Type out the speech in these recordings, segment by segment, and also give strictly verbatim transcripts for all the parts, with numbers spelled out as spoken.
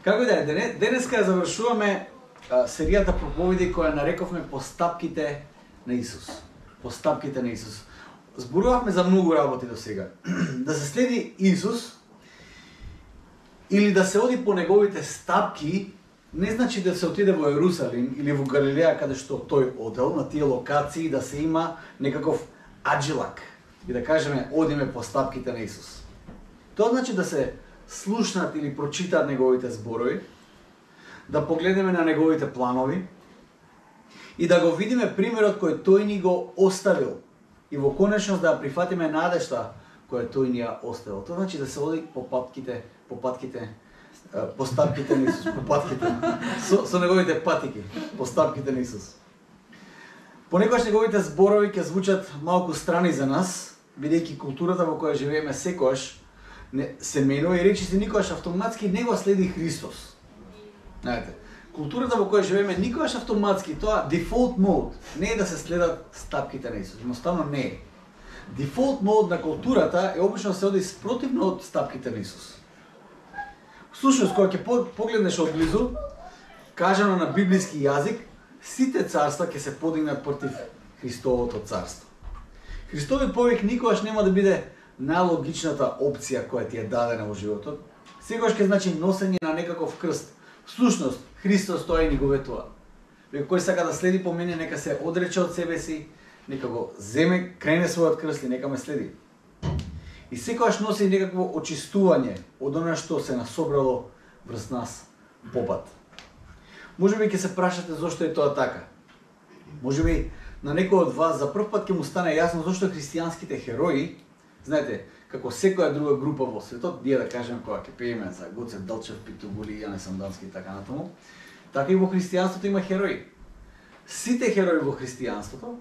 Како да е, денеска завршуваме а, серијата проповеди која нарековме постапките на Исус. Постапките на Исус. Зборувавме за многу работи до сега. Да се следи Исус или да се оди по неговите стапки, не значи да се отиде во Ерусалим или во Галилеја каде што тој одел на тие локации, да се има некаков аджилак и да кажеме одиме по стапките на Исус. Тоа значи да се слушнат или прочитаат неговите зборови, да погледнеме на неговите планови и да го видиме примерот кој тој ни го оставил и во конечност да прифатиме надежта која тој ни ја оставил. Тоа значи да се оди по патките, по патките, по стапките на Исус, по патките, со, со неговите патики, по стапките на Исус. Понекогаш неговите зборови ќе звучат малку страни за нас, бидејќи културата во која живееме секогаш не, се менува и речиси никогаш автоматски не го следи Христос. Знаете, културата во која живееме никогаш автоматски, тоа default mode, не е да се следат стапките на Исус, едноставно не е. Default mode на културата е обично да се оди спротивно од стапките на Исус. Слушајќи, кога ќе погледнеш од близу, кажано на библиски јазик, сите царства ќе се подигнат против Христовото царство. Христовиот повик никогаш нема да биде најлогичната опција која ти е дадена во животот. Секогаш ќе значи носење на некаков крст. Всушност, Христос тоа и ни го ветува. Кој сака да следи по мене, нека се одрече од себе си, нека го земе, крене својот крст и нека ме следи. И секогаш носи некакво очистување од она што се насобрало врз нас попат. Можеби ќе се прашате зошто е тоа така. Можеби на некој од вас за прв пат ќе му стане јасно зошто христијанските херои, знаете, како секоја друга група во светот, ние да кажеме кога ќе пееме за Гоце Делчев, Пито Гули, Јане Сандански и така натаму, така и во христијанството има херои. Сите херои во христијанството,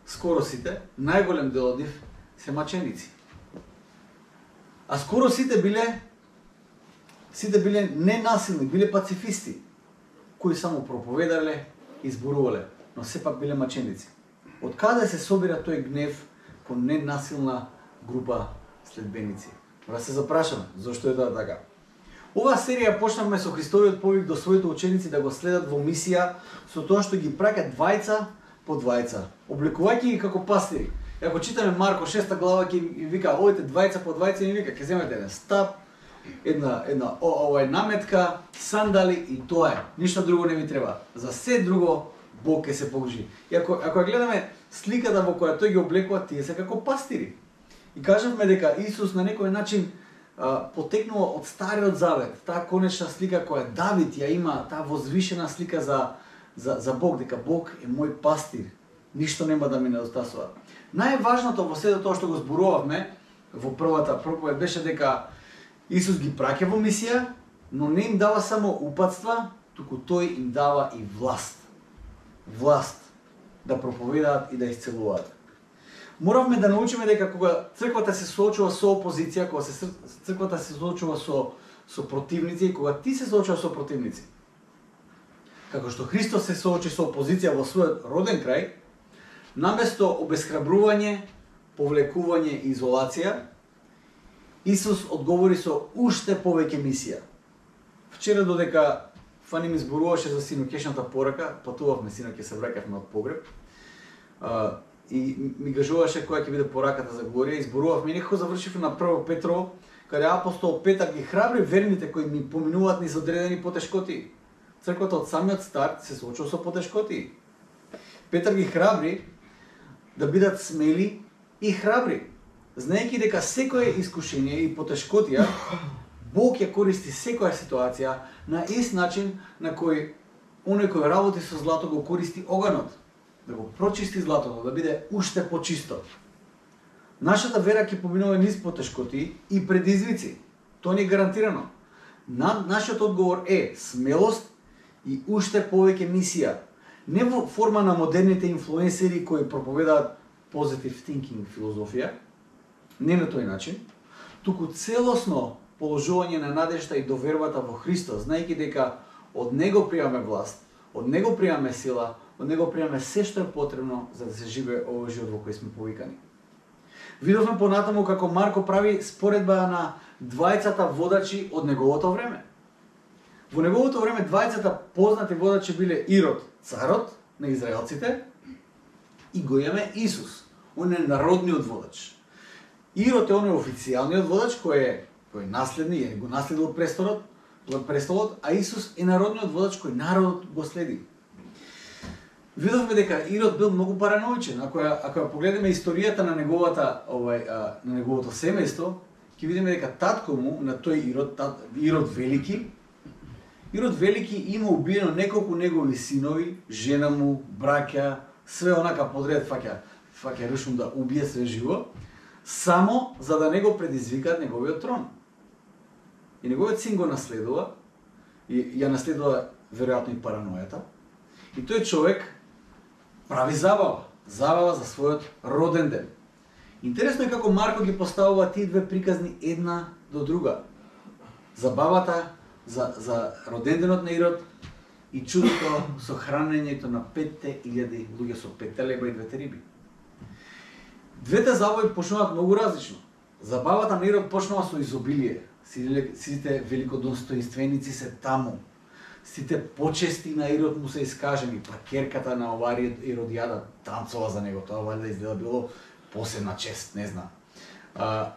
скоро сите, најголем дел од нив се маченици. А скоро сите биле сите биле ненасилни, биле пацифисти, кои само проповедале и зборувале, но сепак биле маченици. Од каде се собира тој гнев кон ненасилна група следбеници? Да се запрашаме, зошто е тоа така? Оваа серија почнавме со Христовиот повик до своите ученици да го следат во мисија со тоа што ги праќа двајца по двајца, обликувајќи ги како пастири. И ако читаме Марко шеста глава, ќе им вика, одите двајца по двајца и вика, ќе земете еден стап, една една о, овај наметка, сандали и тоа е. Ништо друго не ви треба. За се друго Бог ќе се погрижи. И ако ако гледаме сликата во која тој ги облекува, тие се како пастири. И кажавме дека Исус на некој начин а, потекнува од Стариот Завет, таа конечна слика која Давид ја има, таа возвишена слика за за за Бог, дека Бог е мој пастир. Ништо нема да ми недостасува. Најважното во сето тоа што го зборувавме во првата проповед беше дека Исус ги праќа во мисија, но не им дава само упатства, туку тој им дава и власт. Власт да проповедаат и да исцелуваат. Моравме да научиме дека кога црквата се соочува со опозиција, кога се црквата се соочува со со противници, кога ти се соочува со противници, како што Христос се соочи со опозиција во својот роден крај, наместо обесхрабрување, повлекување и изолација, Исус одговори со уште повеќе мисија. Вчера додека Фани ми зборуваше за синокешната порака, патувавме синоќе, се враќавме од погреб, а, и ми кажуваше која ќе биде пораката за Глорија, и зборувавме, и некако завршивме на Прво Петрово, каде апостол Петар ги храбри верните кои ми поминуваат низ одредени потешкоти. Црквата од самиот старт се соочува со потешкоти. Петар ги храбри да бидат смели и храбри, знаејќи дека секое искушение и потешкотија, Бог ја користи секоја ситуација на ист начин на кој оној кој работи со злато го користи оганот, да го прочисти златото, да биде уште почисто. Нашата вера ќе поминува низ потешкоти и предизвици. Тоа ни е гарантирано. На, нашиот одговор е смелост и уште повеќе мисија. Не во форма на модерните инфлуенсери кои проповедаат positive thinking филозофија, не на тој начин, туку целосно положување на надежта и довербата во Христос, знаејќи дека од Него пријаме власт, од Него пријаме сила, од Него пријаме се што е потребно за да се живее овој живот во кој сме повикани. Видовме понатаму како Марко прави споредба на двајцата водачи од неговото време. Во неговото време двајцата познати водачи биле Ирод, царот на израелците, и го имаме Исус, он е народниот водач. Ирод е он е официјалниот водач кој е кој е наследни, е го наследил престолот, престолот, а Исус е народниот водач кој народот го следи. Видовме дека Ирод бил многу параноичен. Ако ја, ако ја погледнеме историјата на неговата овај а, на неговото семејство, ќе видиме дека татко му на тој Ирод, тат, Ирод Велики, Ирод Велики има убиено неколку негови синови, жена му, браќа, све онака подред фаќа, фаќа решум да убие све живо, само за да не го предизвикаат неговиот трон. И неговиот син го наследува, и ја наследува веројатно и паранојата. И тој човек прави забава, забава за својот роден ден. Интересно е како Марко ги поставува тие две приказни една до друга. Забавата за, за роден денот на Ирод и чудото со хранењето на петте илјади луѓе со петте леба и двете риби. Двете забави почнуваат многу различно. Забавата на Ирод почнува со изобилие. Сите великодостоинственици се таму. Сите почести на Ирод му се искажени, па керката на оваа Иродијада танцова за него, тоа валјда изгледа било посебна чест, не знам. А,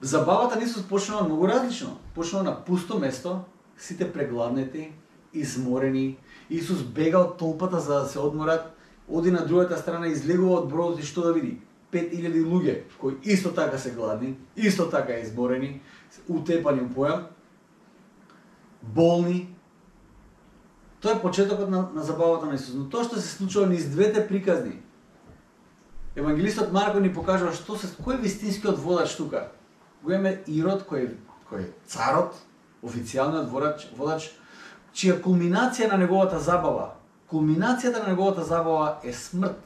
забавата на Исус почнува многу различно. Почнува на пусто место, сите прегладнети, изморени. Исус бега од толпата за да се одморат, оди на другата страна, излегува од бродот и што да види? пет илјади луѓе кои исто така се гладни, исто така изморени, утепани у појам, болни. Тоа е почетокот на, на забавата на Исус. Но тоа што се случува низ двете приказни, евангелистот Марко ни покажува што се кој е вистинскиот водач тука. Го имаме Ирод кој кој е царот, официјалниот водач, водач, чија кулминација на неговата забава, кулминацијата на неговата забава е смрт,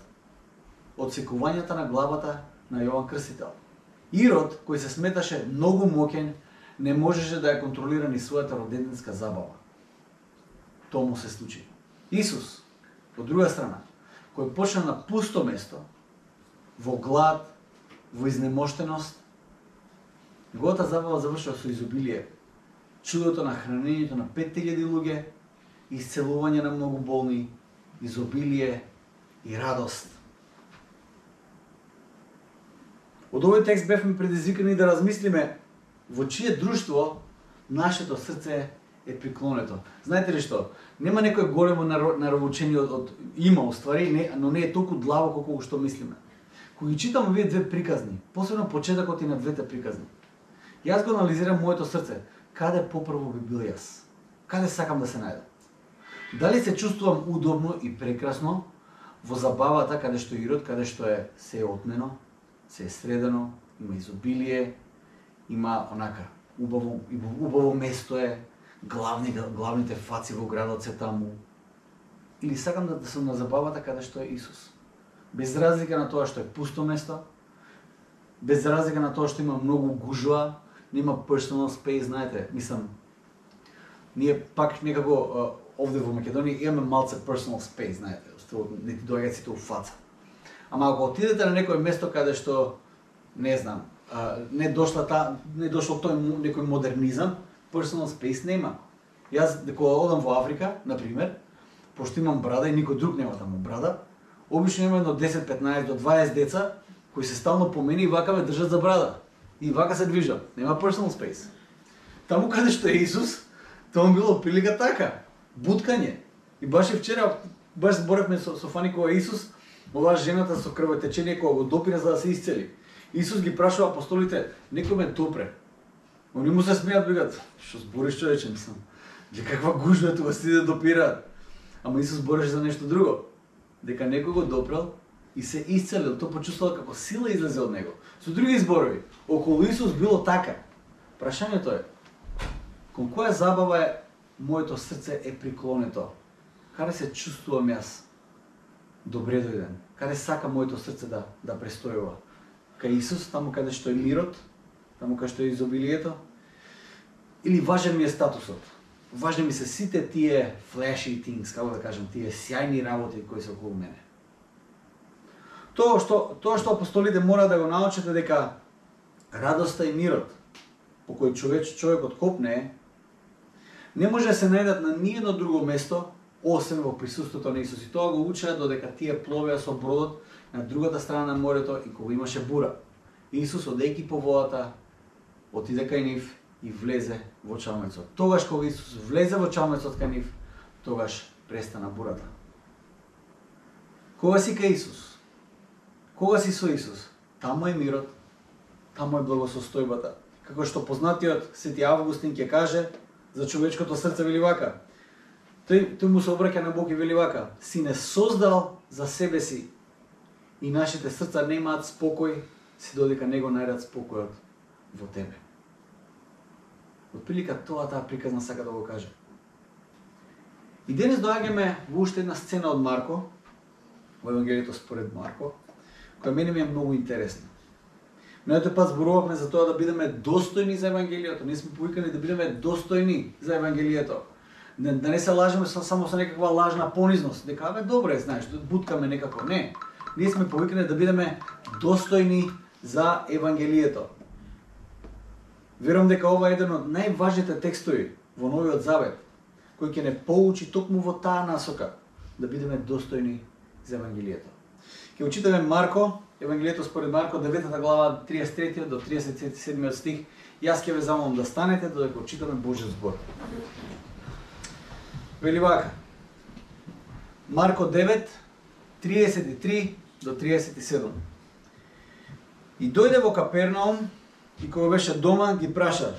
одсекувањата на главата на Јован Крстител. Ирод, кој се сметаше многу моќен, не можеше да ја контролира ни својата роденденска забава. Тоа му се случи. Исус, од друга страна, кој почна на пусто место, во глад, во изнемоштеност, неговата забава завршува со изобилие. Чудото на хранењето на пет илјади луѓе, исцелување на многу болни, изобилие и радост. Од овој текст бевме предизвикани да размислиме во чие друштво нашето срце е приклонето. Знаете ли што? Нема некој големо наравучение од, од има уствари, не, но не е толку длабоко колку што мислиме. Кога ги читам овие две приказни, посебно почетокот и на двете приказни, јас го анализирам моето срце. Каде попрво би бил јас? Каде сакам да се најдам? Дали се чувствувам удобно и прекрасно во забавата каде што Ирод, каде што е се е отнено, се е средено, има изобилие, има онака убаво, убаво место е, главни, главните фаци во градот се таму. Или сакам да, да сум на забавата каде што е Исус. Без разлика на тоа што е пусто место, без разлика на тоа што има многу гужва, нема personal space, знаете, мислам, ние пак некако овде во Македонија имаме малце personal space, знаете, не ти доаѓаат сите у фаца. Ама ако отидете на некој место каде што, не знам, не дошла та, не дошло тој некој модернизам, personal space нема. Јас кога одам во Африка, на пример, пошто имам брада и никој друг нема таму брада, обично има едно десет, петнаесет до дваесет деца кои се стално по мене и вака ме држат за брада. И вака се движат. Нема personal space. Таму каде што е Исус, тоа било прилика така. Буткање. И баш и вчера, баш зборевме со, со Фани кога Исус, оваа жената со крвотечение кога го допира за да се исцели. Исус ги прашува апостолите, некој ме допре. Они му се смеат, бегат, што збориш човече, мислам. Де каква гужва тука сите да допираат. Ама Исус збореше за нешто друго. Дека некој го допрел и се исцелил, тоа почувствувал како сила излезе од него. Со други зборови, околу Исус било така. Прашањето е, кон која забава е моето срце е приклонето? Каде се чувствувам јас? Добре дојден. Каде сака моето срце да да престојува? Кај Исус, таму каде што е мирот, таму каде што е изобилието? Или важен ми е статусот? Важни ми се сите тие flashy things, како да кажем, тие сјајни работи кои се околу мене. Тоа што тоа што апостолите мора да го научат е дека радоста и мирот по кој човек човекот копне не може да се најдат на ниедно друго место, освен во присуството на Исус. И тоа го учеа додека тие пловеа со бродот на другата страна на морето и кога имаше бура. Исус, одејќи по водата, отиде кај нив и влезе во чалмецот. Тогаш кога Исус влезе во чалмецот кај нив, тогаш престана бурата. Кога си кај Исус? Кога си со Исус? Таму е мирот, таму е благосостојбата. Како што познатиот Свети Августин ќе каже за човечкото срце, вели вака. Тој, тој му се обраќа на Бог и вели вака: си не создал за себе си и нашите срца немаат спокој, си додека него најдат спокојот во тебе. Отприлика тоа таа приказна сака да го каже. И денес доаѓаме во уште една сцена од Марко, во Евангелието според Марко, која мене ми е многу интересна. Минатиот пат зборувавме за тоа да бидеме достојни за Евангелието. Ние сме повикани да бидеме достојни за Евангелието. Да, да не се лажеме само со некаква лажна понизност. Дека, бе, добре, знаеш, буткаме некако. Не. Ние сме повикани да бидеме достојни за Евангелието. Верувам дека ова е еден од најважните текстови во Новиот Завет, кој ќе не поучи токму во таа насока да бидеме достојни за Евангелието. Ќе учитаме Марко, Евангелието според Марко, деветата глава, триесет и трети до триесет и седми стих. Јас ќе ве замолам да станете додека учитаме Божјиот збор. Вели вака. Марко девет, триесет и три до триесет и седум. И дојде во Капернаум и кога беше дома ги праша: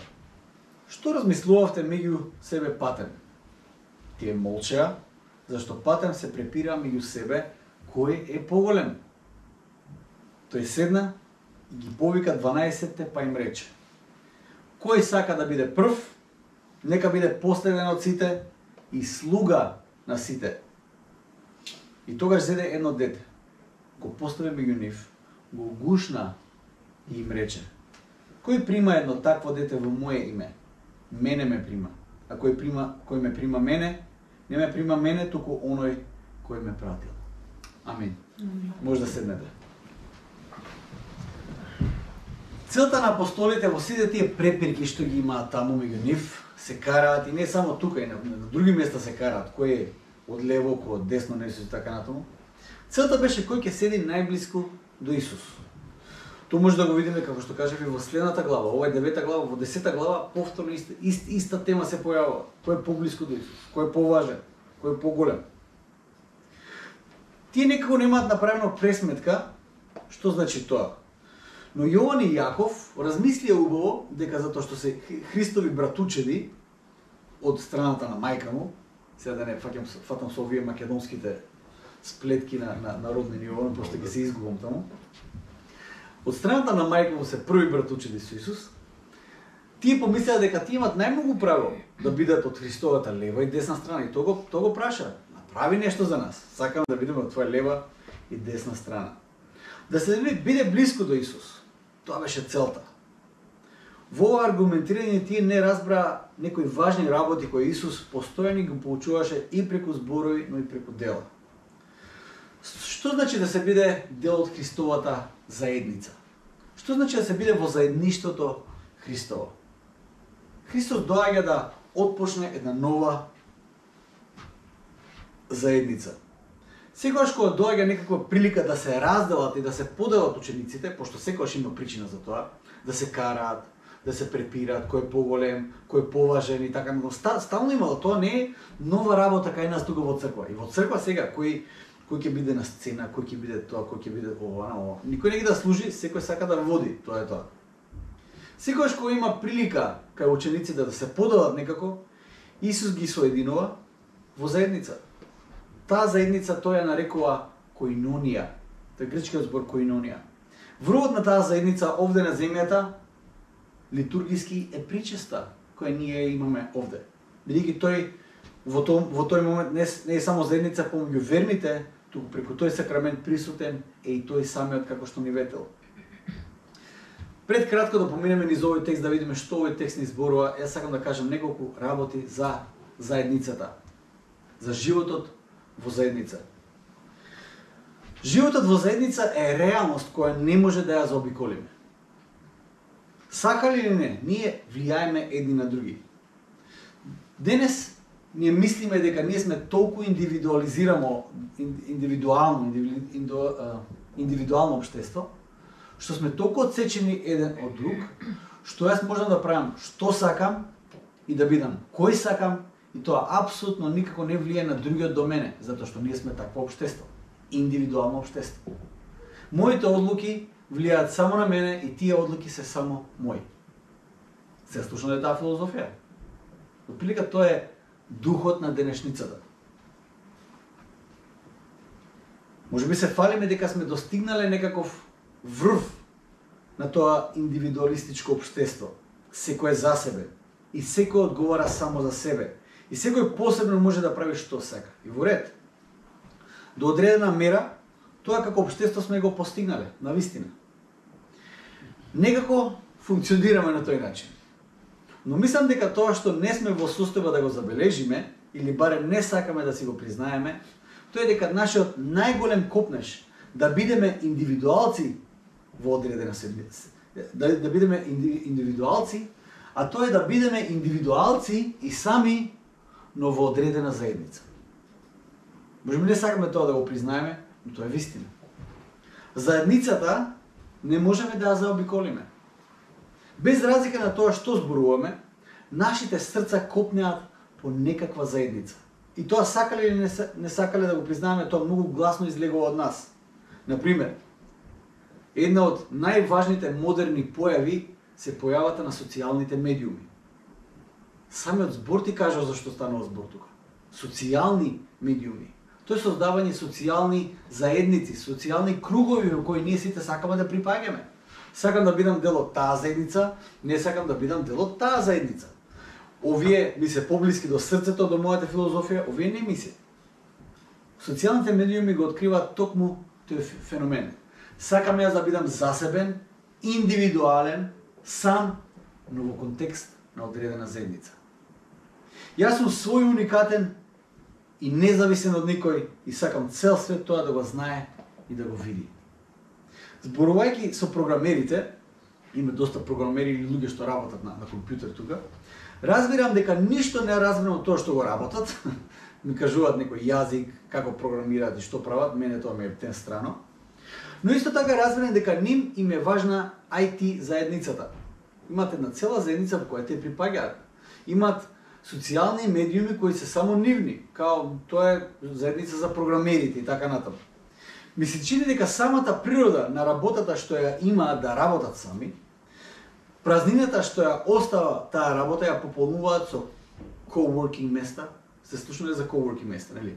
што размислувавте меѓу себе патем? Тие молчеа, зашто патем се препира меѓу себе кој е поголем. Тој седна и ги повика дванаесетте, па им рече: кој сака да биде прв, нека биде последен од сите и слуга на сите. И тогаш зеде едно дете, го постави меѓу нив, го гушна и им рече: кој прима едно такво дете во мое име, мене ме прима. А кој прима, кој ме прима мене, не ме прима мене, туку оној кој ме пратил. Амин. Може да седнете. Целта на апостолите во сите тие препирки што ги имаат таму меѓу нив, се караат и не само тука, и на, на други места се караат, кој е од лево, кој од десно на Исус и така натаму. Целта беше кој ќе седи најблиску до Исус. Тоа може да го видиме, како што кажав, и во следната глава. Ова е девета глава, во десета глава повторно иста, ист, иста тема се појавува. Кој е поблиску до Исус, кој е поважен, кој е поголем. Тие некако немаат направено пресметка што значи тоа. Но Јован и Јаков размислија убаво дека затоа што се Христови братучеди од страната на мајка му, сега да не фаќам, фатам со овие македонските сплетки на, на, на родни ниво, просто ќе се изгубам таму. Од страната на мајка му се први братучеди со Исус, тие помислеа дека тие имат најмногу право да бидат од Христовата лева и десна страна. И тоа го, то го праша: направи нешто за нас. Сакам да бидеме од твоја лева и десна страна. Да се биде блиску до Исус. Тоа беше целта. Во ова аргументирање тие не разбра некои важни работи кои Исус постојано го поучуваше и преку зборови, но и преку дела. Што значи да се биде дел од Христовата заедница? Што значи да се биде во заедништвото Христово? Христос доаѓа да отпочне една нова заедница. Секогаш кога доаѓа некаква прилика да се разделат и да се поделат учениците, пошто секогаш има причина за тоа, да се караат, да се препираат, кој е поголем, кој е поважен и така, но стално имало, тоа не е нова работа кај нас тука во црква. И во црква сега кој кој ќе биде на сцена, кој ќе биде тоа, кој ќе биде ова, ова. Никој не ги да служи, секој сака да води, тоа е тоа. Секогаш кога има прилика кај учениците да се поделат некако, Исус ги соединува во заедница. Таа заедница тој ја нарекува коинонија. Тоа е грчкиот збор коинонија. Врвот на таа заедница овде на земјата литургиски е причеста која ние имаме овде. Бидејќи тој во тој во тој момент не, не е само заедница помеѓу верните, туку преку тој сакрамент присутен е и тој самиот како што ни ветел. Пред кратко да поминеме низ овој текст да видиме што овој текст ни зборува, јас сакам да кажам неколку работи за заедницата, за животот во заедница. Животот во заедница е реалност која не може да ја заобиколиме. Сакали или не, ние влијаеме едни на други. Денес ние мислиме дека ние сме толку индивидуализирано, индивидуално, индивидуално општество, што сме толку отсечени еден од друг, што јас можам да правам што сакам и да бидам кој сакам, и тоа апсолутно никако не влие на другиот до мене, затоа што ние сме такво општество, индивидуално општество. Моите одлуки влијаат само на мене и тие одлуки се само мои. Се слушна е таа филозофија. Отприлика тоа е духот на денешницата. Може би се фалиме дека сме достигнале некаков врв на тоа индивидуалистичко општество. Секој е за себе и секој одговара само за себе. И секој посебно може да прави што сака. И во ред. До одредена мера, тоа како општество сме го постигнале, навистина. Некако функционираме на тој начин. Но мислам дека тоа што не сме во состојба да го забележиме, или барем не сакаме да си го признаеме, тоа е дека нашиот најголем копнеш да бидеме индивидуалци во одредена седмица, да, да бидеме индивидуалци, а тоа е да бидеме индивидуалци и сами, но во одредена заедница. Може би не сакаме тоа да го признаеме, но тоа е вистина. Заедницата не можеме да ја заобиколиме. Без разлика на тоа што зборуваме, нашите срца копнеат по некаква заедница. И тоа сакале или не сакале да го признаеме, тоа многу гласно излегува од нас. Например, една од најважните модерни појави се појавата на социјалните медиуми. Самиот збор ти кажа зашто станува збор тука. Социјални медиуми. Тоа е создавање социјални заедници, социјални кругови во кои ние сите сакаме да припаѓаме. Сакам да бидам дел од таа заедница, не сакам да бидам дел од таа заедница. Овие ми се поблиски до срцето, до мојата филозофија, овие не ми се. Социјалните медиуми го откриваат токму тој феномен. Сакам јас да бидам засебен, индивидуален, сам, но во контекст на одредена заедница. Јас сум свој уникатен и независен од никој и сакам цел свет тоа да го знае и да го види. Зборувајќи со програмерите, има доста програмери или луѓе што работат на, на компјутер тука, разбирам дека ништо не разбирам од тоа што го работат. Ми кажуваат некој јазик, како програмираат и што прават, мене тоа ме е тен страно. Но исто така разбирам дека ним им е важна ај ти заедницата. Имат една цела заедница во која те припаѓаат. Имат социјални медиуми кои се само нивни, као тоа е заедница за програмерите и така натаму. Ми се чини дека самата природа на работата што ја имаат да работат сами, празнината што ја остава таа работа ја пополнуваат со coworking места. Се слушнале за coworking места, нели?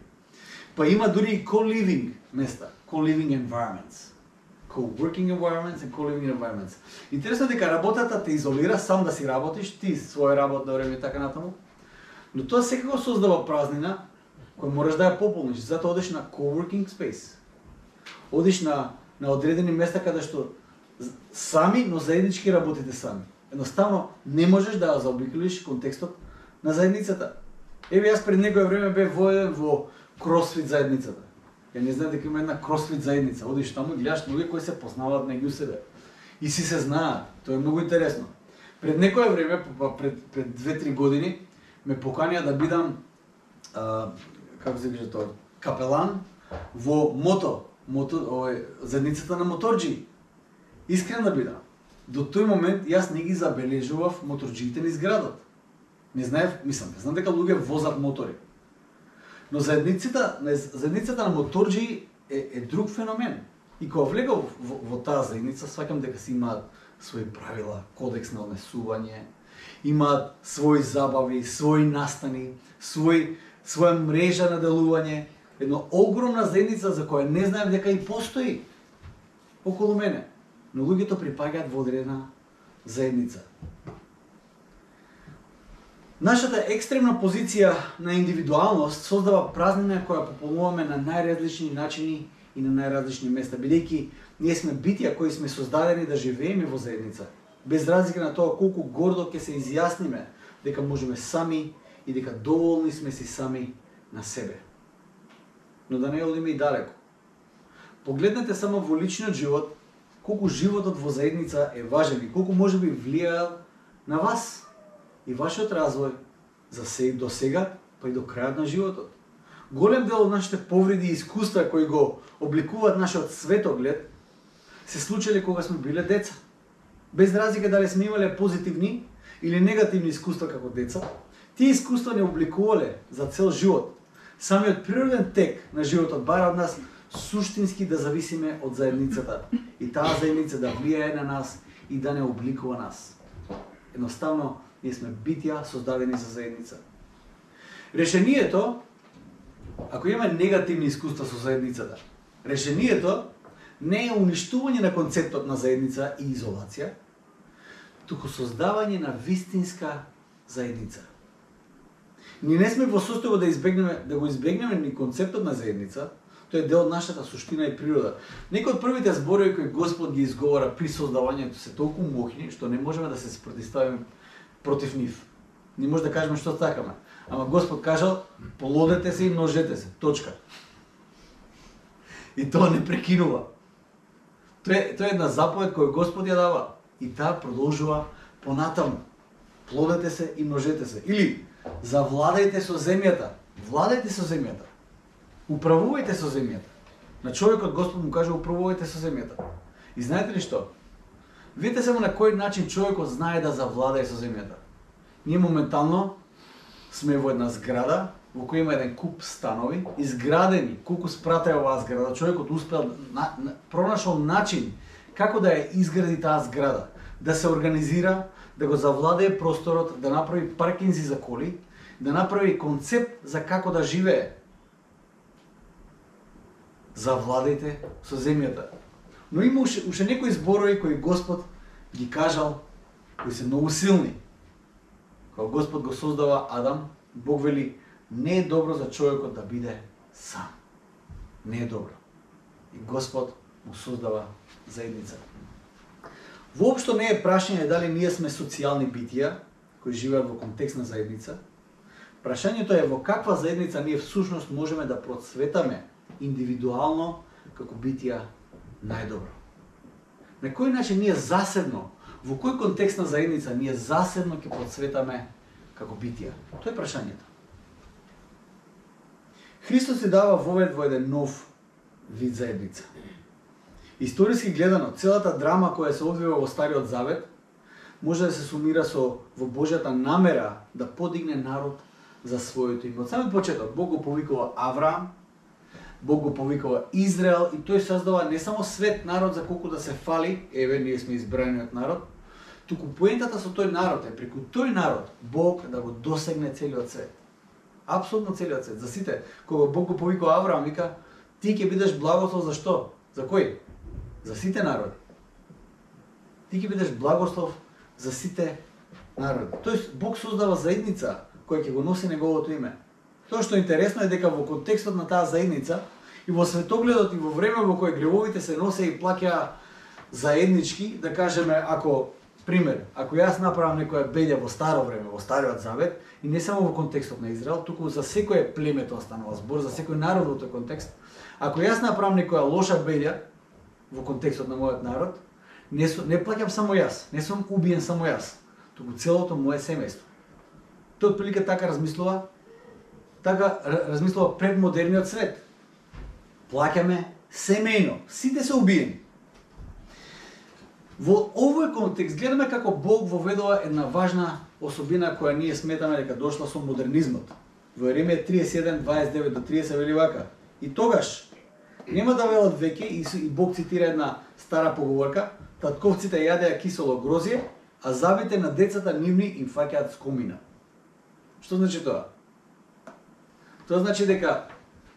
Па има дури и co-living места, co-living environments. Co-working environments and co-living environments. Интересно дека работата те изолира сам да си работиш, ти свој работно време и така натаму. Но тоа секако создава празнина која мораш да ја пополниш, затоа одиш на co-working space. Одиш на на одредени места каде што сами, но заеднички работите сами. Едноставно не можеш да ја заобиколиш контекстот на заедницата. Еве јас пред некое време бев воеден во кросфит заедницата. Ја не знам дека има една кросфит заедница. Одиш таму и гледаш луѓе кои се познаваат меѓу себе. И си се знаат. Тоа е многу интересно. Пред некое време, пред пред две-три години, ме поканија да бидам а, како се каже тоа, капелан во мото, мото, овој заедницата на моторџи. Искрен да бидам. До тој момент јас не ги забележував моторџиите низ градот. Не знаев, мислам, не знам дека луѓе возат мотори. Но заедницата, заедницата на моторџи е, е друг феномен. И кога влегав во, во, во таа заедница, сваќам дека си имаат своји правила, кодекс на однесување, имаат своји забави, своји настани, свој, своја мрежа на делување, една огромна заедница за која не знаев дека и постои околу мене. Но луѓето припаѓаат во одредена заедница. Нашата екстремна позиција на индивидуалност создава празнина која пополнуваме на најразлични начини и на најразлични места, бидејќи ние сме битија кои сме создадени да живееме во заедница, без разлика на тоа колку гордо ќе се изјасниме дека можеме сами и дека доволни сме си сами на себе. Но да не одиме и далеко. Погледнете само во личниот живот, колку животот во заедница е важен и колку може би влијал на вас и вашиот развој за се до сега, па и до крајот на животот. Голем дел од нашите повреди и искуства кои го обликуваат нашиот светоглед се случиле кога сме биле деца. Без разлика дали сме имале позитивни или негативни искуства како деца, тие искуства не обликувале за цел живот. Самиот природен тек на животот бара од нас суштински да зависиме од заедницата и таа заедница да влијае на нас и да не обликува нас. Едноставно, ние сме битја создадени за заедница. Решението, ако имаме негативни искуства со заедницата, решението не е уништување на концептот на заедница и изолација, туку создавање на вистинска заедница. Ние не сме во состојба да избегнеме да го избегнеме ни концептот на заедница, тој е дел од нашата суштина и природа. Некои од првите зборови кои Господ ги изговора при создавањето се толку мощни што не можеме да се спротивставиме против нив. Не може да кажеме што сакаме. Ама Господ кажал: "Плодете се и множете се." Точка. И тоа не прекинува. Тоа е, тоа е една заповед која Господ ја дава и таа продолжува понатаму. Плодете се и множете се. Или завладајте со земјата. Владајте со земјата. Управувајте со земјата. На човекот Господ му каже: управувајте со земјата. И знаете ли што? Видите само на кој начин човекот знае да завладае со земјата. Ние моментално сме во една зграда во која има еден куп станови, изградени. Колку спрата е оваа зграда, човекот успел на, на, пронашол начин како да ја изгради таа зграда, да се организира, да го завладее просторот, да направи паркинзи за коли, да направи концепт за како да живее. Завладајте со земјата. Но има уште, уште некои зборови кои Господ ги кажал, кои се многу силни. Кога Господ го создава Адам, Бог вели: "Не е добро за човекот да биде сам." Не е добро. И Господ му создава заедница. Воопшто не е прашање дали ние сме социјални битија кои живеат во контекст на заедница. Прашањето е во каква заедница ние всушност можеме да процветаме индивидуално како битија најдобро. На кој начин ние заседно, во кој контекст на заедница ние заседно ќе процветаме како битија? Тоа е прашањето. Христос се дава вовед во еден нов вид заедница. Историски гледано, целата драма која се одвива во Стариот Завет може да се сумира со во Божјата намера да подигне народ за своето име. Од самиот почеток Бог го повикува Авраам, Бог го повикува Израел и тој создава не само свет народ за колку да се фали, еве ние сме избраниот народ, туку поентата со тој народ е преку тој народ Бог да го досегне целиот свет. Апсолутно целиот свет. За сите, кога Бог го повикува Авраам, вика: "Ти ќе бидеш благослов за што? За кој? За сите народи. Ти ќе бидеш благослов за сите народи." Тоест Бог создава заедница која ќе го носи неговото име. Тоа што е интересно е дека во контекстот на таа заедница и во светогледот и во време во кое гревовите се носе и плаќа заеднички, да кажеме, ако пример, ако јас направам некоја беља во старо време, во Стариот Завет, и не само во контекстот на Израел, туку за секое племе тоа станува збор, за секој народ во тој контекст. Ако јас направам некоја лоша беља во контекстот на мојот народ, не, не плаќам само јас, не сум убиен само јас, туку целото мое семејство. Тој отприлика така размислува, така размислува пред модерниот свет. Плаќаме семејно, сите се убиени. Во овој контекст гледаме како Бог воведува една важна особина која ние сметаме дека дошла со модернизмот. Во Еремија триесет и еден, дваесет и девет до тридесет вели вака: "И тогаш нема да велат веќе", и Бог цитира една стара поговорка: "Татковците јадеа кисело грозје, а забите на децата нивни им фаќаат скомина." Што значи тоа? Тоа значи дека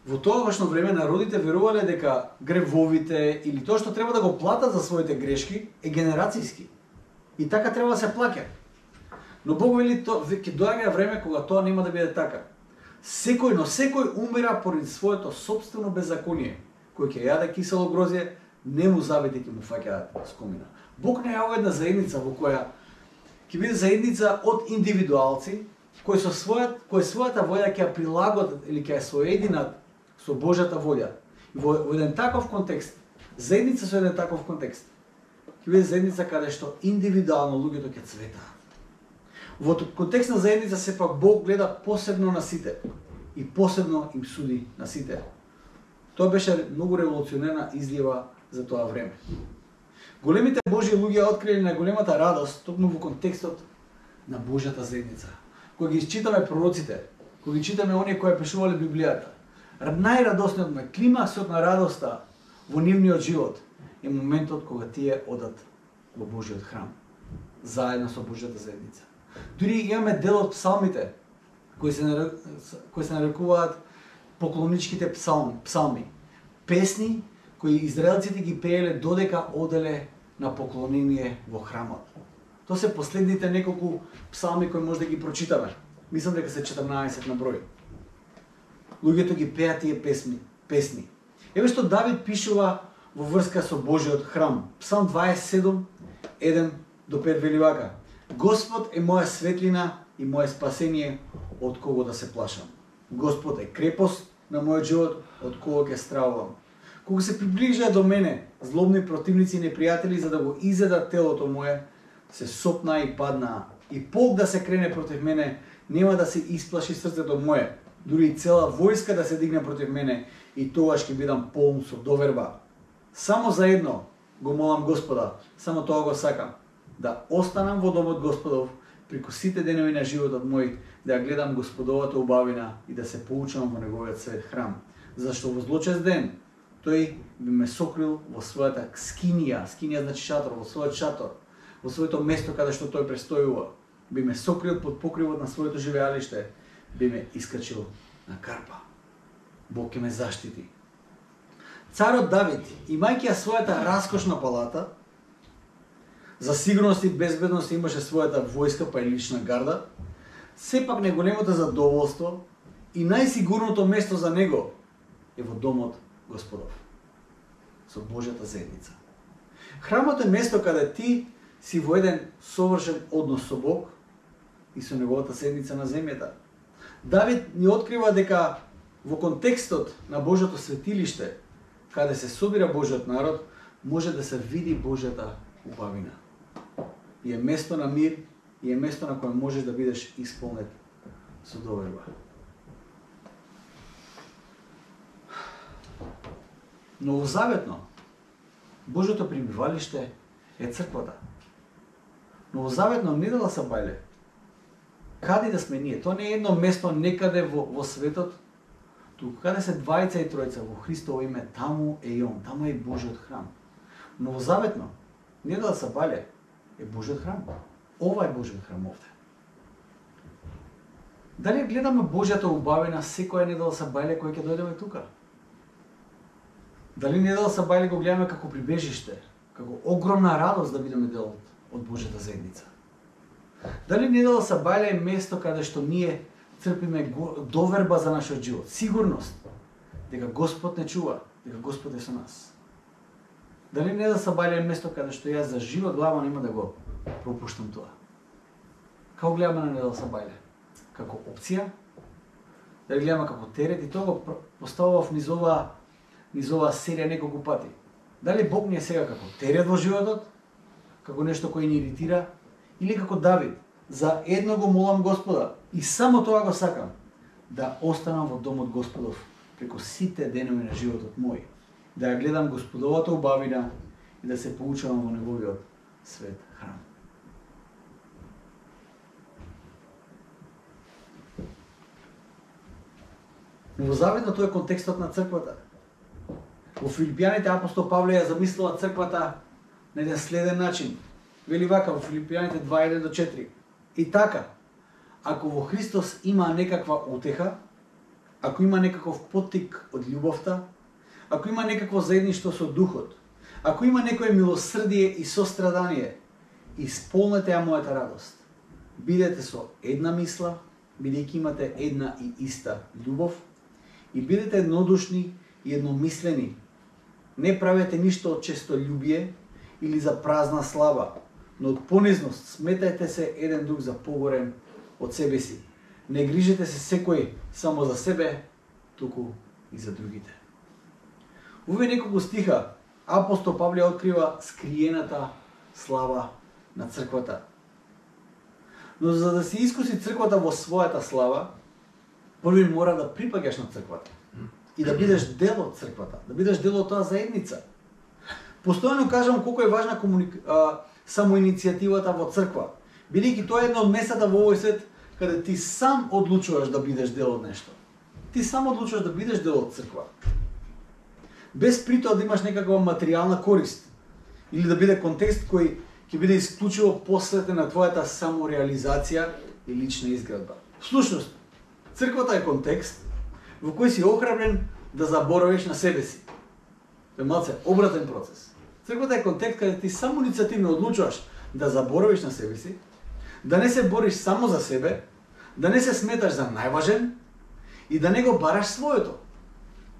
во тогашно време народите верувале дека гревовите или тоа што треба да го платат за своите грешки е генерацијски. И така треба да се плаќа. Но Бог вели тоа ќе доаѓа време кога тоа нема да биде така. Секој, но секој умира поради своето сопствено беззаконие. Кој ќе јаде кисело грозје, не му забите ќе му фаќаат скомина. Бог најавува една заедница во која ќе биде заедница од индивидуалци кои со својат, кои својата волја ќе ја прилагодат или ќе ја соединат со Божјата волја. И во, во еден таков контекст, заедница со еден таков контекст, ќе биде заедница каде што индивидуално луѓето ќе цветаат. Во контекст на заедница сепак Бог гледа посебно на сите и посебно им суди на сите. Тоа беше многу револуционерна изјава за тоа време. Големите Божји луѓе открили најголемата радост токму во контекстот на Божјата заедница. Кога ги читаме пророците, кога ги читаме оние кои пишувале Библијата, најрадосниот на климаксот на радоста во нивниот живот е моментот кога тие одат во Божјиот храм, заедно со Божјата заедница. Дури имаме дел од псалмите кои се кои се нарекуваат поклоничките псалми, псалми, песни кои израелците ги пееле додека оделе на поклонение во храмот. Тоа се последните неколку псалми кои може да ги прочитаме. Мислам дека се четрнаесет на број. Луѓето ги пеат тие песни, песни. Еве што Давид пишува во врска со Божјиот храм. Псалм дваесет и седум, еден до пет вели вака: Господ е моја светлина и моје спасение, од кого да се плашам. Господ е крепост на мојот живот, од кого ќе стравувам. Кога се приближаа до мене злобни противници и непријатели за да го изедат телото мое, се сопнаа и паднаа. И полк да се крене против мене, нема да се исплаши срцето мое. Дури и цела војска да се дигне против мене, и тогаш ќе бидам полн со доверба. Само за едно го молам Господа, само тоа го сакам, да останам во домот Господов преку сите денови на животот мој, да ја гледам Господовата убавина и да се поучам во неговиот свет храм. Зашто во злочест ден тој би ме сокрил во својата скинија, скинија значи шатор, во својот шатор, во своето место каде што тој престојува, би ме сокрил под покривот на своето живеалиште, би ме искачил на карпа. Бог ќе ме заштити. Царот Давид, имајќи ја својата раскошна палата, за сигурност и безбедност имаше својата војска па и лична гарда, сепак најголемото задоволство и најсигурното место за него е во домот Господов, со Божјата заедница. Храмот е место каде ти си во еден совршен однос со Бог и со неговата заедница на земјата. Давид ни открива дека во контекстот на Божјото светилиште, каде се собира Божјиот народ, може да се види Божјата убавина. И е место на мир, и е место на кое можеш да бидеш исполнет со доверба. Новозаветно, Божјото пребивалиште е црквата. Новозаветно не дала са бајле. Каде да сме ние? Тоа не е едно место некаде во, во светот, туку каде се двајца и тројца во Христово име, таму е и он, таму е и Божјиот храм. Новозаветно, не дала са бајле, е Божјиот храм. Ова е Божјиот храм овде. Дали гледаме Божјата убавина секоја недела са бајле кој ќе дојдеме тука? Дали недела са бајле го гледаме како прибежиште, како огромна радост да бидеме дел од Божјата заедница? Дали недела са бајле е место каде што ние црпиме доверба за нашиот живот, сигурност дека Господ не чува, дека Господ е со нас? Дали недела са бајле е место каде што јас за жива глава нема да го пропуштам тоа? Како гледаме на недела са бајле? Како опција? Дали гледаме како терет? И тоа го поставував низ оваа низ оваа серија неколку пати. Дали Бог ни е сега како терет во животот, како нешто кој ни иритира, или како Давид, за едно го молам Господа и само тоа го сакам, да останам во домот Господов преку сите денови на животот мој, да ја гледам Господовата убавина и да се поучавам во неговиот свет храм. Новозаветно тоа е контекстот на црквата. Во Филипјаните апостол Павле ја замислила црквата на еден следен начин. Вели вака во Филипјаните два еден до четири. И така, ако во Христос има некаква утеха, ако има некаков поттик од љубовта, ако има некакво заедништво со духот, ако има некое милосрдие и сострадание, исполнете ја мојата радост. Бидете со една мисла, бидејќи имате една и иста љубов, и бидете еднодушни и едномислени. Не правете ништо од честолюбие или за празна слава, но од понизност сметајте се еден друг за погорен од себе си. Не грижете се секој само за себе, туку и за другите. Овие неколку стиха апостол Павле открива скриената слава на црквата. Но за да се искуси црквата во својата слава, први мора да припаѓаш на црквата и да бидеш дел од црквата, да бидеш дел од таа заедница. Постојано кажам колку е важна комуник... а, самоиницијативата во црква, бидејќи тоа е едно од местата во овој свет каде ти сам одлучуваш да бидеш дел од нешто. Ти сам одлучуваш да бидеш дел од црква. Без при тоа да имаш некаква материјална корист или да биде контекст кој ќе биде исклучиво посветен на твојата самореализација и лична изградба. Всушност, црквата е контекст во кој си охрабрен да заборавиш на себе си. Тоа е малце обратен процес. Црквата е контекст каде ти само иницијативно одлучуваш да заборавиш на себе си, да не се бориш само за себе, да не се сметаш за најважен и да не го бараш своето.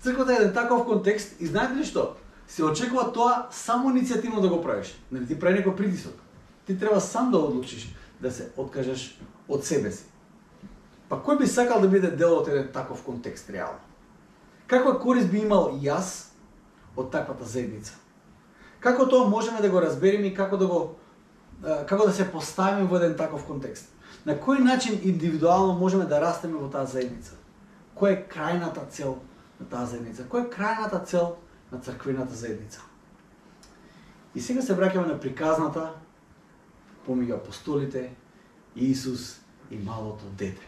Црквата е еден таков контекст и знаете ли што? Се очекува тоа само иницијативно да го правиш. Не ти прави некој притисок. Ти треба сам да одлучиш да се откажеш од себе си. Па кој би сакал да биде дел од еден таков контекст реално? Каква корист би имал јас од таквата заедница? Како тоа можеме да го разбереме и како да го како да се поставиме во еден таков контекст? На кој начин индивидуално можеме да растеме во таа заедница? Која е крајната цел на таа заедница? Која е крајната цел на црквената заедница? И сега се враќаме на приказната помеѓу апостолите, Исус и малото дете.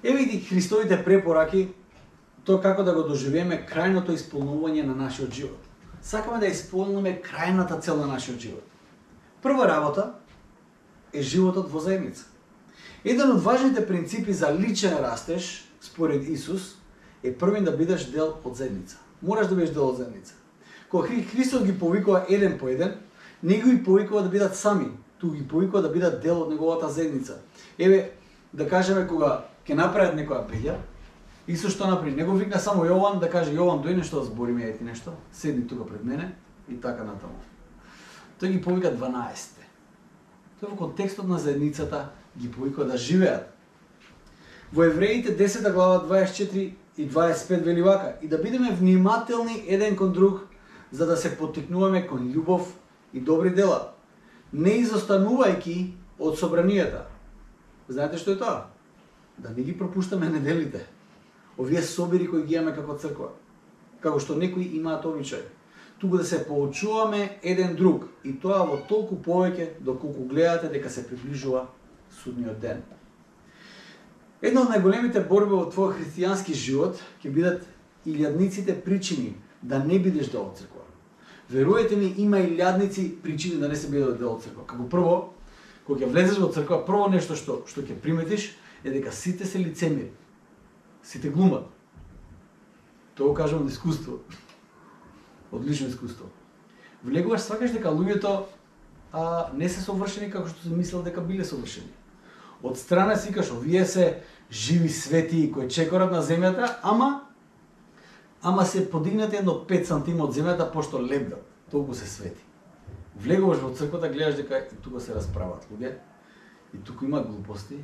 Еве ги Христовите препораки, тоа како да го доживееме крајното исполнување на нашиот живот. Сакаме да исполниме крајната цел на нашиот живот. Прва работа е животот во заедница. Еден од важните принципи за личен растеж, според Исус, е првен да бидеш дел од заедница. Мораш да бидеш дел од заедница. Кога Христос ги повикува еден по еден, не ги повикува да бидат сами, туку ги повикува да бидат дел од неговата заедница. Еве, да кажеме кога ќе направат некоја беѓа, Исус што направи? Не го викна само Јован да каже Јован дојди нешто да збориме ети нешто, седни тука пред мене и така натаму. Тој ги повика дванаесет. Тој во контекстот на заедницата ги повикува да живеат. Во Евреите десета глава дваесет и четири и дваесет и пет вели вака: и да бидеме внимателни еден кон друг, за да се поттикнуваме кон љубов и добри дела, не изостанувајќи од собранијата. Знаете што е тоа? Да не ги пропуштаме неделите. Овие собири кои ги имаме како црква, како што некои имаат обичај, туку да се поучуваме еден друг и тоа во толку повеќе доколку гледате дека се приближува судниот ден. Една од најголемите борби во твојот христијански живот ќе бидат илјадниците причини да не бидеш дел од црква. Веруете ми, има илјадници причини да не се биде дел од црква. Како прво, кога ќе влезеш во црква, прво нешто што што ќе приметиш е дека сите се лицемири. Сите глумат. Тоа го кажам од искуство. Од лично искуство. Влегуваш, свакаш дека луѓето а, не се совршени како што се мислел дека биле совршени. Од страна си кажеш, овие се живи свети кои чекорат на земјата, ама ама се подигнати едно пет сантима од земјата пошто лебдат. Толку се свети. Влегуваш во црквата, гледаш дека и тука се расправат луѓе, и тука има глупости,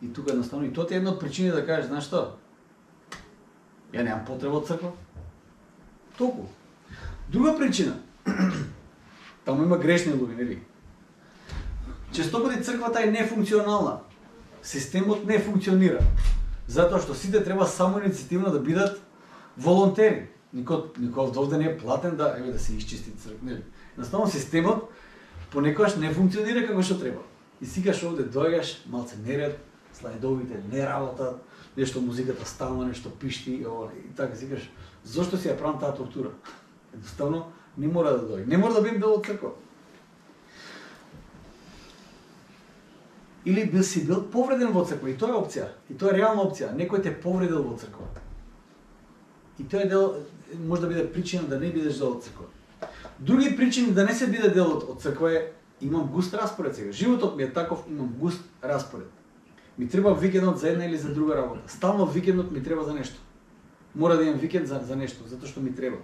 и тука едноставно и тоа е една од причини да кажеш, знаеш што? Ја немам потреба од црква. Толку. Друга причина. Таму има грешни луѓе, нели? Честопати црквата е нефункционална. Системот не функционира. Затоа што сите треба само иницијативно да бидат волонтери. Никој никој овде не е платен да еве да се исчисти црква, нели? Едноставно системот понекогаш не функционира како што треба. И сикаш овде доаѓаш, малце неред, слайдовите не работат, нешто музиката стално, нешто пишти и и така сикаш, зошто си ја правам таа тортура? Едноставно не мора да дојде. Не мора да бидам дел од црква. Или бил си бил повреден во црква, и тоа е опција, и тоа е реална опција. Некој те повредил во црква. И тоа е дел, може да биде причина да не бидеш дел од црква. Други причини да не се биде дел од, од црква е имам густ распоред сега. Животот ми е таков, имам густ распоред. Ми треба викендот за една или за друга работа. Стално викендот ми треба за нешто. Мора да имам викенд за, за нешто, затоа што ми треба.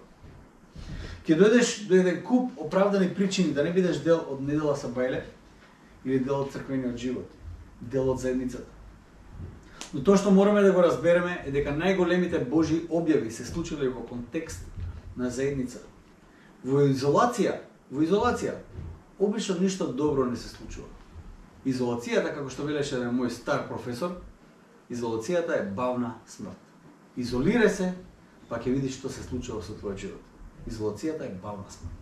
Ке дојдеш до еден куп оправдани причини да не бидеш дел од недела сабајле или дел од црквениот живот, дел од заедницата. Но тоа што мораме да го разбереме е дека најголемите Божји објави се случиле во контекст на заедница. Во изолација, во изолација, обично ништо добро не се случува. Изолацијата, како што велеше еден мој стар професор, изолацијата е бавна смрт. Изолирај се, па ќе видиш што се случува со твојот живот. Изолацијата е бавна смрт.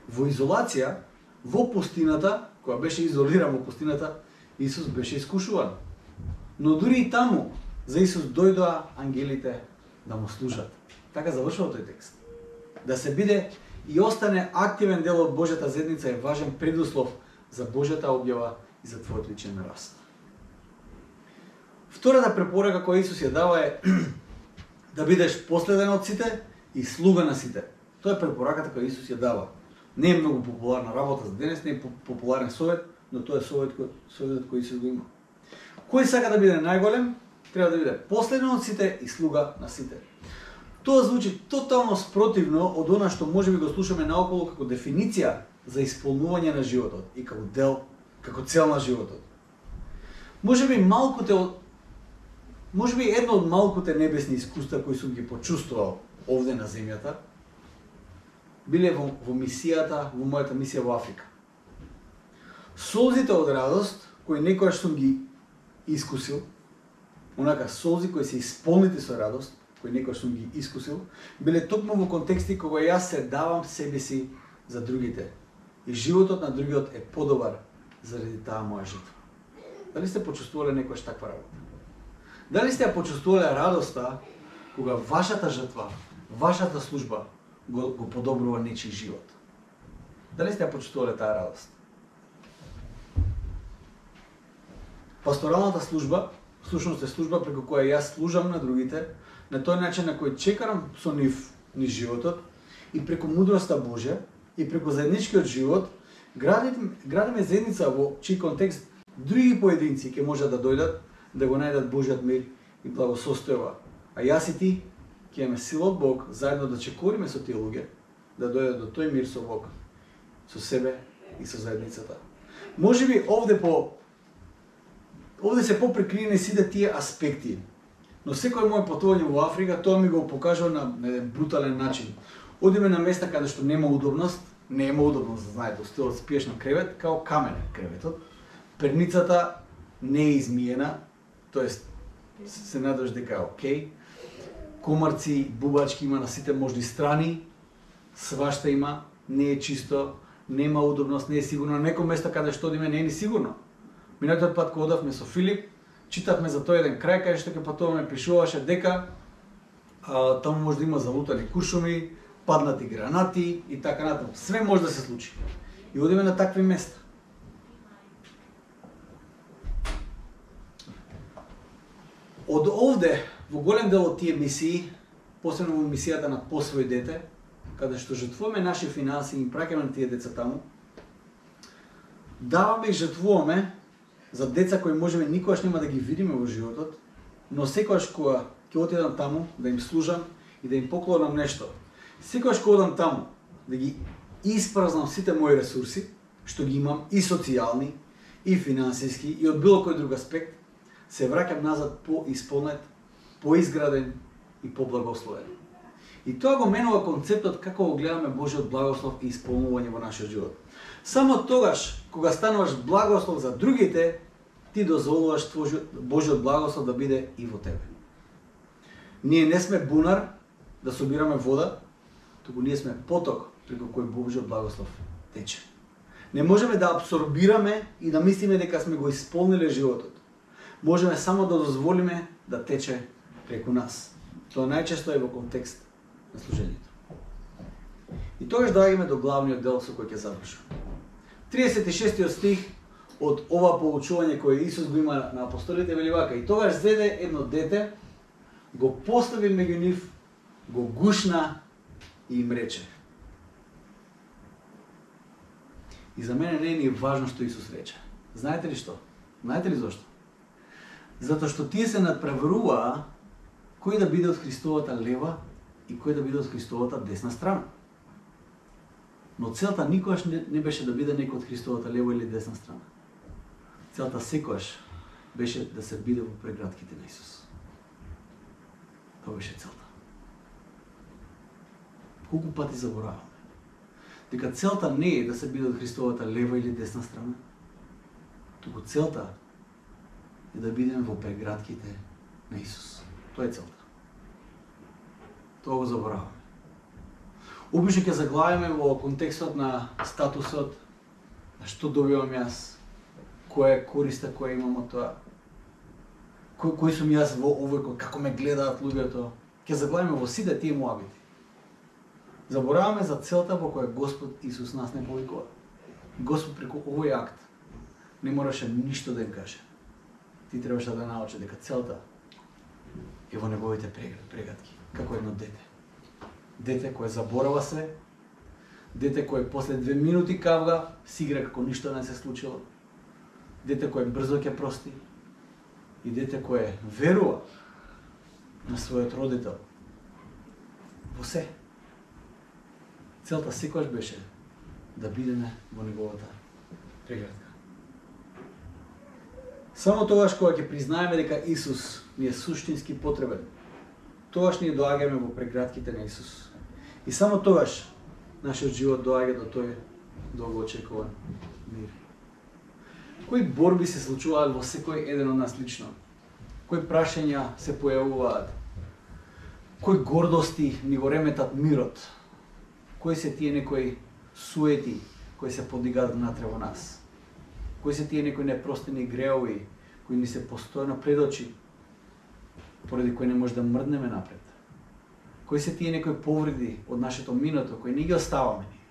Во изолација, во пустината, која беше изолиран во пустината, Исус беше искушуван. Но дури и таму, за Исус дојдоа ангелите да му служат. Така завршува тој текст. Да се биде и остане активен дел од Божјата заедница е важен предуслов за Божјата објава и за твојот личен раст. Втората препорака која Исус ја дава е да бидеш последен од сите и слуга на сите. Тоа е препораката која Исус ја дава. Не е многу популарна работа за денес, не е популарен совет, но тоа е совет кој, советот кој Исус го има. Кој сака да биде најголем, треба да биде последен од сите и слуга на сите. Тоа звучи тотално спротивно од она што можеби го слушаме наоколу како дефиниција за исполнување на животот и како дел, како цел на животот. Можеби малкуте од можеби едно од малкуте небесни искуства кои сум ги почувствувал овде на земјата биле во, во мисијата, во мојата мисија во Африка. Солзите од радост кои некојаш сум ги искусил, онака солзи кои се исполнети со радост, кои некојаш сум ги искусил, биле токму во контексти кога јас се давам себе си за другите. И животот на другиот е подобар заради таа моја жртва. Дали сте почувствувале некојаш таква работа? Дали сте ја почувствувале радоста кога вашата жртва, вашата служба го, го подобрува нечи живот? Дали сте ја почувствувале таа радост? Пасторалната служба, всушност е служба преку која јас служам на другите, на тој начин на кој чекарам со нив ни животот и преку мудроста Божја и преку заедничкиот живот градиме, градиме заедница во чиј контекст други поединци ќе можат да дојдат да го најдат Божјиот мир и благосостојба. А јас и ти ќе имаме сила од Бог заедно да чекориме со тие луѓе да дојдат до тој мир со Бог, со себе и со заедницата. Можеби овде по овде се поприкриени сите тие аспекти. Но секој мој патување во Африка, тоа ми го покажува на, на еден брутален начин. Одиме на места каде што нема удобност, нема удобност, да знаете, стилот спиеш на кревет, као камен креветот. Перницата не е измиена, тоест се надеваш дека е окей. Комарци, бубачки има на сите можни страни, свашта има, не е чисто, нема удобност, не е сигурно. На некој место каде што одиме не е ни сигурно. Минатиот пат кога одавме со Филип, читавме за тој еден крај каде што ќе патуваме, пишуваше дека а, таму може да има залутани куршуми, паднати гранати и така натаму. Све може да се случи. И одиме на такви места. Од овде, во голем дел од тие мисии, посебно во мисијата на Посвој дете, каде што жртвуваме наши финанси и праќаме на тие деца таму, даваме и жртвуваме за деца кои можеби никогаш нема да ги видиме во животот, но секогаш кога ќе отидам таму да им служам и да им поклонам нешто, секогаш кога одам таму да ги испразнам сите мои ресурси, што ги имам и социјални, и финансиски, и од било кој друг аспект, се враќам назад по-исполнет, по-изграден и по-благословен. И тоа го менува концептот како го гледаме Божиот благослов и исполнување во нашиот живот. Само тогаш, кога стануваш благослов за другите, ти дозволуваш Божиот благослов да биде и во тебе. Ние не сме бунар да собираме вода, туку ние сме поток преку кој Божиот благослов тече. Не можеме да абсорбираме и да мислиме дека сме го исполниле животот. Можеме само да дозволиме да тече преку нас. Тоа најчесто е во контекст на служењето. И тогаш доаѓаме до главниот дел со кој ќе завршам. тридесет и шестиот стих од ова поучување кое Исус го има на апостолите вели вака: и тогаш зеде едно дете, го постави меѓу нив, го гушна и им рече. И за мене не е ни важно што Исус рече. Знаете ли што? Знаете ли зошто? Затоа што тие се надпреваруваа кој да биде од Христовата лева и кој да биде од Христовата десна страна. Но целта никогаш не, не беше да биде некој од Христовата лева или десна страна. Целта секогаш беше да се биде во прегратките на Исус. Тоа беше целта. Колку пати забораваме дека целта не е да се биде од Христовата лева или десна страна, Туку целта е да бидеме во прегратките на Исус. Тоа е целта. Тоа го забораваме. Обично ќе заглавиме во контекстот на статусот, на што добивам јас, која е користа која имам од тоа, кој, кој сум јас во овој, како ме гледаат луѓето. Ќе заглавиме во сите тие муабити. Забораваме за целта во која Господ Исус нас не повикува. Господ преку овој акт не мораше ништо да им каже. Ти требаше да научи дека целта е во неговите прегатки, како едно дете. Дете кое заборава се, дете кое после две минути кавга, си игра како ништо не се случило, дете кое брзо ќе прости и дете кое верува на својот родител во се. Целта секогаш беше да бидеме во неговата преградка. Само тогаш кога ќе признаеме дека Исус ни е суштински потребен, тогаш ние доаѓаме во прегратките на Исус. И само тогаш нашиот живот доаѓа до тој долгоочекуван мир. Кои борби се случуваат во секој еден од нас лично? Кои прашања се појавуваат? Кои гордости ни го реметат мирот? Кои се тие некои суети кои се подигаат внатре во нас? Кои се тие некои непростени греови кои ни се постојано пред очи, поради кои не може да мрднеме напред? Кои се тие некои повреди од нашето минато кои не ги оставаме ние,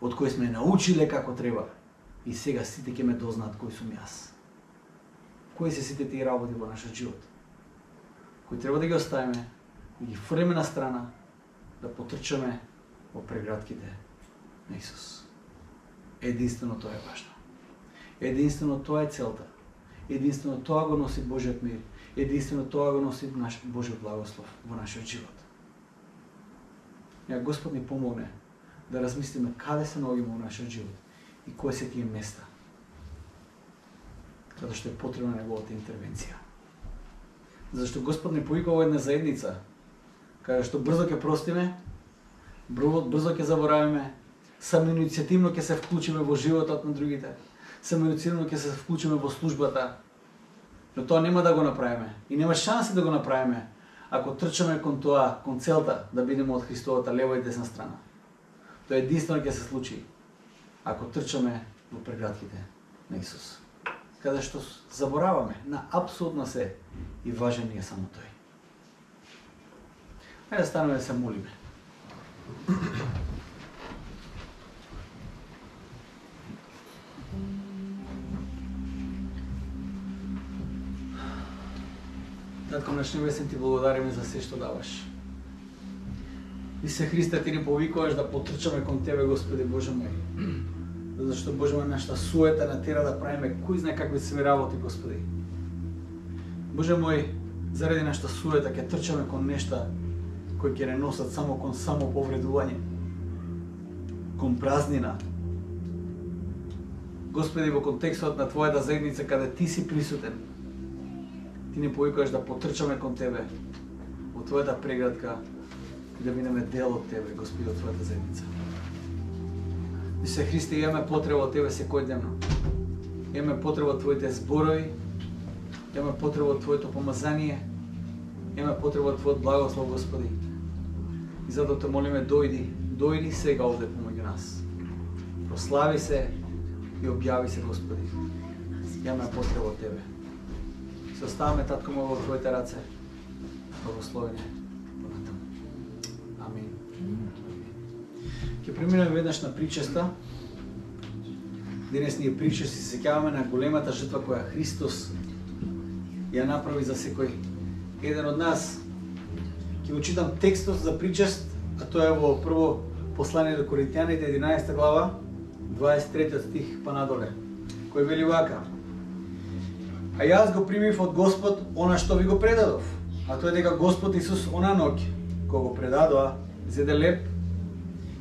од кои сме научиле како треба и сега сите ќе ме дознаат кој сум јас? Кои се сите тие работи во нашиот живот кои треба да ги оставиме и ги фрлиме на страна, да потрчаме во прегратките на Исус? Единствено тоа е важно. Единствено тоа е целта. Единствено тоа го носи Божиот мир. Единствено тоа го носи наш Божиот благослов во нашиот живот. Ја Господ ни помогне да размислиме каде се наоѓаме во нашиот живот и кои се тие места каде што е потребна неговата интервенција. Зашто Господ ни повикува во една заедница каде што брзо ќе простиме, брзо ќе заборавиме, самоиницијативно ќе се вклучиме во животот на другите, самоиницијативно ќе се вклучиме во службата. Но тоа нема да го направиме и нема шанси да го направиме ако трчаме кон тоа, кон целта да бидеме од Христовата лева и десна страна. Тоа единствено ќе се случи ако трчаме во прегратките на Исус, каде што забораваме на апсолутно се и важен е само тој. Хајде да станеме да се молиме. Татко наш небесен, ти благодариме за се што даваш. Исе Христе, ти ни повикуваш да потрчаме кон тебе, Господи Боже мој. Зашто Боже мој, нашата суета натера да правиме кој знае какви се работи, Господи. Боже мој, заради нашата суета ќе трчаме кон нешта кои ќе не носат само кон само повредување, кон празнина. Господи, во контекстот на Твојата заедница, каде Ти си присутен, Ти ни повикуваш да потрчаме кон Тебе, во Твојата преградка и да бидеме дел од Тебе, Господи, од Твојата заедница. Исе Христе, имаме потреба од Тебе секојдневно. Имаме потреба од Твоите зборови, имаме потреба од Твоето помазание, имаме потреба од Твојот благослов, Господи. И затоа те молиме, дојди, дојди сега овде помеѓу нас. Прослави се и објави се, Господи. Имаме потреба од Тебе. Се оставаме, Татко мој, во Твоите раце. Благословење. Амин. Ќе преминеме веднаш на причеста. Денес ние причести се сеќаваме на големата жртва која Христос ја направи за секој еден од нас. Ќе го читам текстот за причест, а тоа е во прво послание до Коринтијаните, единаесета глава, дваесет и трети стих па надоле, кој вели вака: А јас го примив од Господ она што ви го предадов, а тоа е дека Господ Исус она ноќ, кога го предадоа, зеде леп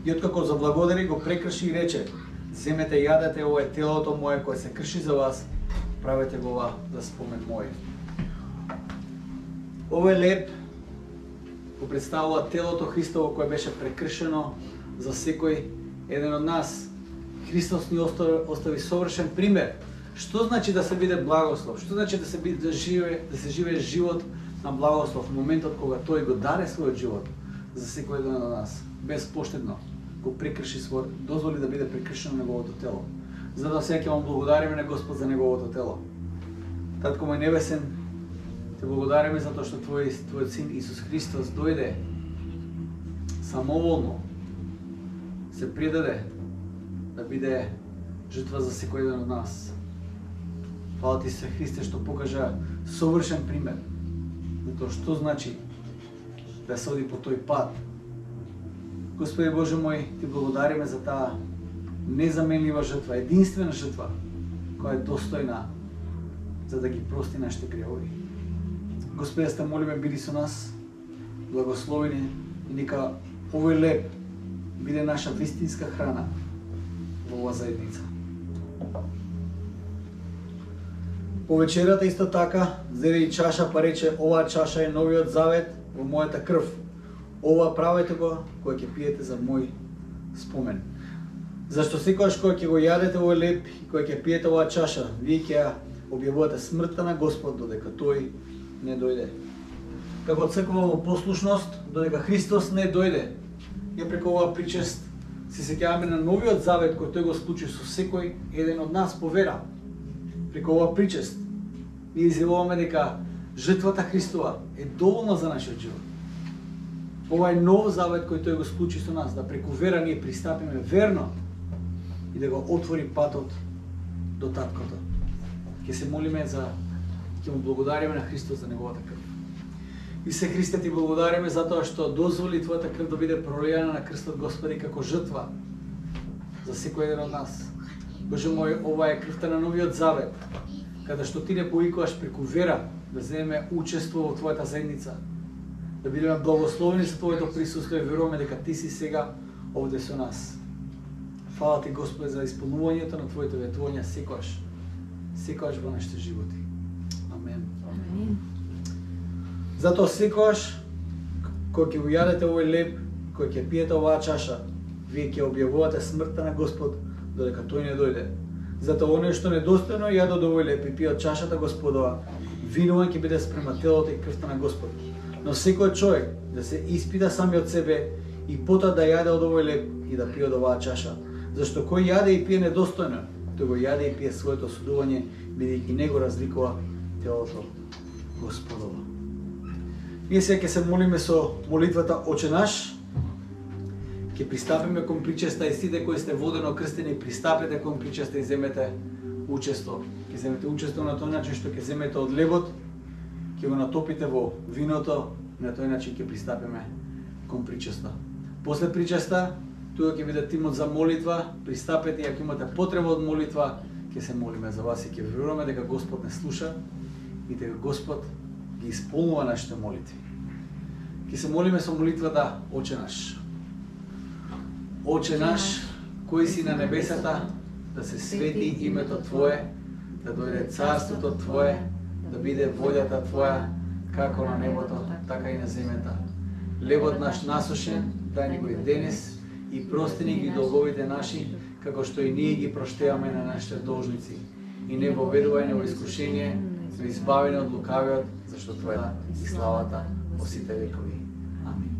и откако заблагодари, го прекрши и рече: Земете и јадете, ова е телото мое кое се крши за вас, правете го ова за спомен мој. Овој леп го представува телото Христово кое беше прекршено за секој еден од нас. Христос ни остави, остави совршен пример Што значи да се биде благослов? Што значи да се биде да живее, да се живее живот на благослов, моментот кога тој го даде својот живот за секој еден од нас, безпоштедно го прекрши свој, дозволи да биде прекршено неговото тело. Затоа сега ќе му благодариме на Господ за неговото тело. Татко мој небесен, те благодариме затоа што твој твојот син Исус Христос дојде самоволно, се предаде да биде жртва за секој еден од нас. Фала ти се, Христе, што покажа совршен пример за тоа што значи да се оди по тој пат. Господи Боже мој, ти благодариме за таа незаменлива жртва, единствена жртва, која е достојна за да ги прости нашите гревови. Господи, да те молиме, биди со нас, благословени и нека овој леп биде наша вистинска храна во оваа заедница. По вечерата исто така зеде и чаша, па рече: оваа чаша е новиот завет во мојата крв. Ова правете го кога ќе пиете за мој спомен. Зашто секогаш кога ќе го јадете овој леп и кога ќе пиете оваа чаша, вие ќе ја објавувате смртта на Господ додека тој не дојде. Како црква во послушност додека Христос не дојде, ја преку оваа причест се сеќаваме на новиот завет кој тој го склучи со секој еден од нас по вера. Преку оваа причест ние изјавуваме дека жртвата Христова е доволна за нашиот живот. Ова е нов завет кој тој го склучи со нас, да преку вера ние пристапиме верно и да го отвори патот до таткото. Ќе се молиме за, ќе му благодариме на Христос за неговата крв. И се, Христе, ти благодариме затоа што дозволи твојата крв да биде пролијана на крстот, Господи, како жртва за секој еден од нас. Боже мој, ова е крвта на новиот завет, каде што ти не повикуваш преку вера да земеме учество во твојата заедница, да бидеме благословени за твоето присуство и веруваме дека ти си сега овде со нас. Фала ти, Господи, за исполнувањето на твоите ветувања секогаш, секогаш во нашите животи. Амен. Амен. Затоа секогаш кога ќе го јадете овој леб, кога ќе пиете оваа чаша, вие ќе објавувате смртта на Господ додека тој не дојде. Затоа оние што недостојно јадат овој леб и пијат чашата Господова, винуван ќе биде спрема телото и крвта на Господ. Но секој човек да се испита сами од себе и потоа да јаде од овој леб и да пие од оваа чаша. Зашто кој јаде и пие недостојно, тој го јаде и пие своето осудување, бидејќи не го разликува телото Господово. Ние сега ќе се молиме со молитвата Оче наш. Ќе пристапиме кон причеста и сите кои сте водено крстени, пристапете кон причеста и земете учество. Ќе земете учество на тој начин што ќе земете од лебот, ќе го натопите во виното, на тој начин ќе пристапиме кон причеста. После причеста, тука ќе биде тимот за молитва, пристапете и ако имате потреба од молитва, ќе се молиме за вас и ќе веруваме дека Господ не слуша и дека Господ ги исполнува нашите молитви. Ќе се молиме со молитвата Оче наш. Оче наш, кој си на небесата, да се свети името Твое, да дојде царството Твое, да биде волјата Твоја, како на небото, така и на земјата. Лебот наш насушен, дај ни го и денес, и прости ни ги долговите наши, како што и ние ги проштеваме на нашите должници. И не воведувај во искушение, но избави од лукавиот, зашто Твоја и славата во сите векови. Амин.